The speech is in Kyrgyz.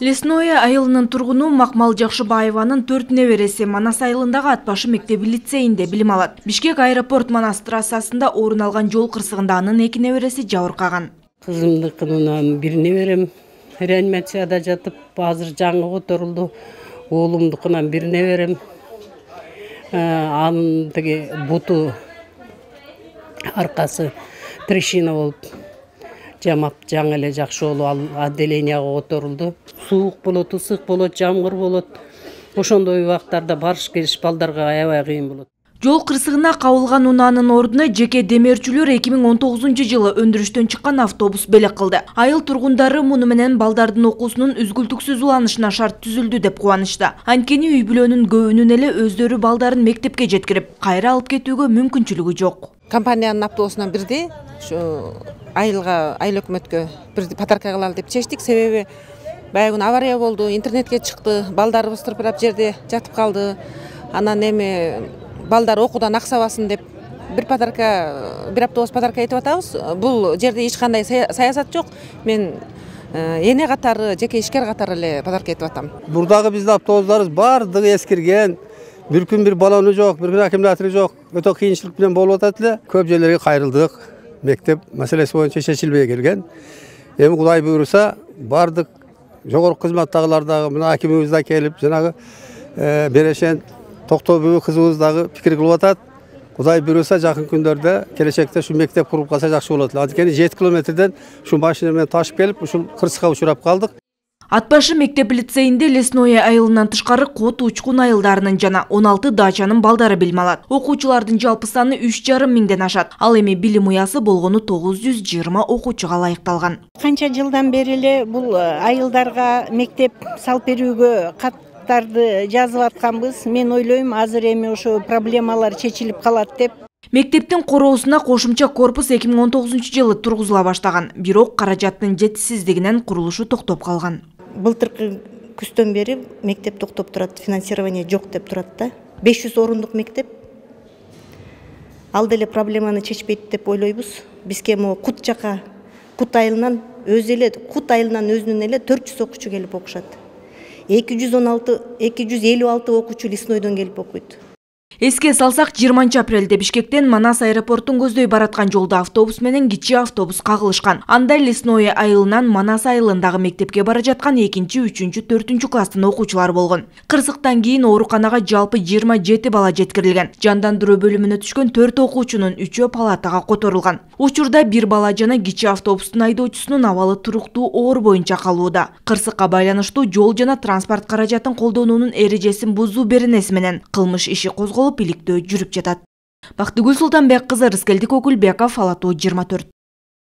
Лесное айылынын тургуну Макмал Жакшыбаеванын 4 небереси Манас айылындагы ат башы мектеби лицейинде билим алат. Бишкек аэропорт Манас трассасында орун алган жол кырсыгында анын 2 небереси жабыркаган. Кызымдыкынан бир неберем реанимацияда жатып, азыр жаңы которулду. Оолумдукунан бир неберем анын тиги буту аркасы трещина болуп жамап жаңы эле жакшы болуп ал отделенияга которулду. Суук болот, ысык болот, жамгыр болот. Ошондой убактарда барыш келиш балдарга аябай кыйын болот. Жол кырсыгына кабылган унаанын ордуна жеке демирчүлөр 2019-жылы өндүрүштөн чыккан автобус белек кылды. Айыл тургундары муну менен балдардын окуусунун үзгүлтүксүз уланышына шарт түзүлдү деп кубанышты. Анткени үй бүлөнүн көбүнүн эле өздөрү балдарын мектепке жеткирип, кайра алып кетүүгө мүмкүнчүлүгү жок. Компаниянын автобусунан бирди айылга, айыл өкмөткө бир подарка кылалы деп чечтик. Себеби баягы күнү авария болду, интернетке чыкты, балдарыбыз тырпырап жерде жатып калды. Анан эми балдар окуудан аксабасын деп бир автобус подарка этип атабыз. Бул жерде эч кандай саясат жок. Мен эне катары, жеке ишкер катары эле подарка этип атам. Бурдагы биздин автобустарыбыз баардыгы эскирген. Бир күн бир баллону жок, бир күн аккумулятору жок. Өтө кыйынчылык менен болуп атат эле. Көп жерлерге кайрылдык. Мектеп маселеси боюнча чечилбей келген. Эми Кудай буйруса, баардык жогорку кызматтагылар дагы, мына акимибиз да келип, жанагы Берешен Токтобүй кызыбыз дагы пикир кылып атат. Кудай буйруса, жакын күндөрдө келечекте ушу мектеп куруп калса жакшы болот. Анткени 7 километрден ушу машина менен ташып келип, ушул кырсыкка учурап калдык. Атбашы мектеп лицейинде Лесное айылынан тышкары Кот Учкун айылдарынын жана 16 дачанын балдары билим алат. Окуучулардын жалпы саны 3,5 миңден ашат. Ал эми билим уясы болгону 920 окуучуга ылайыкталган. Канча жылдан бери эле бул айылдарга мектеп салып берүүгө каттарды жазып атканбыз. Мен ойлойм, азыр эми ошо проблемалар чечилип калат деп. Мектептин короосуна кошумча корпус 2019-жылы тургузула баштаган. Бирок каражаттын жетишсиздигинен курулушу токтоп калган. Былтыркы күздөн бери мектеп токтоп турат, финансирование жок деп турат да. 500 орундук мектеп. Ал деле проблеманы чечпейт деп ойлойбуз. Бизге могу Кут жака, Кут айылынан өзүнүн эле 400 окуучу келип окушат. 256 окуучу Леснойдон келип окуйт. Эске салсак, 20 апрелде Бишкектен Манас аэропортун көздөй бараткан жолдо автобус менен кичи автобус кагылышкан. Анда Лесное айылынан Манас айылындагы мектепке бара жаткан 2, 3, 4 класстын окуучулары болгон. Кырсыктан кийин ооруканага жалпы 27 бала жеткирилген. Жандандыруу бөлүмүнө түшкөн 4 окуучунун 3-өө палатага которулган. Учурда бир бала жана кичи автобустун айдоочусунун абалы туруктуу оор боюнча калууда. Кырсыкка байланыштуу жол жана транспорт каражатын колдонуунун эрежесин бузуу беренеси менен кылмыш иши козголуп иликтөө жүрүп жатат. Бактыгүл Султанбек кызы, Рыскелдик Окулбеков, Ала Тоо 24.